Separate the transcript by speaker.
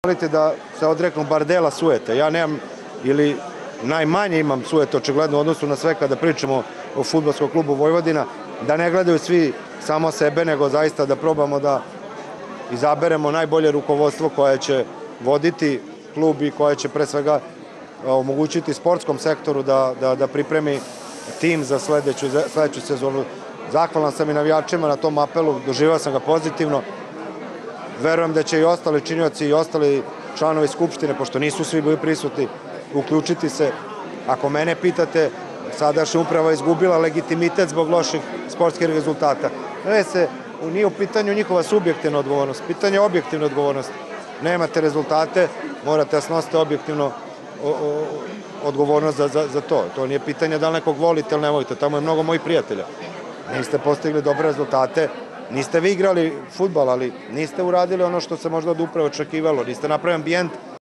Speaker 1: Molite da se odreknu bar dela sujete. Ja nemam, ili najmanje imam sujete očigledno u odnosu na sve kada pričamo o fudbalskom klubu Vojvodina, da ne gledaju svi samo sebe, nego zaista da probamo da izaberemo najbolje rukovodstvo koje će voditi klub i koje će pre svega omogućiti sportskom sektoru da pripremi tim za sledeću sezonu. Zahvalan sam i navijačima na tom apelu, doživao sam ga pozitivno. Verujem da će i ostali činioci i ostali članovi Skupštine, pošto nisu svi bili prisutni, uključiti se. Ako mene pitate, sadašnja uprava je izgubila legitimitet zbog loših sportskih rezultata. Nije u pitanju njihova subjektivna odgovornost, pitanje je objektivne odgovornosti. Nemate rezultate, morate da snosite objektivno odgovornost za to. To nije pitanje da li nekog volite ili ne volite, tamo je mnogo mojih prijatelja. Niste postigli dobre rezultate, niste vi igrali fudbal, ali niste uradili ono što se možda od uprave očekivalo, niste napravili ambijent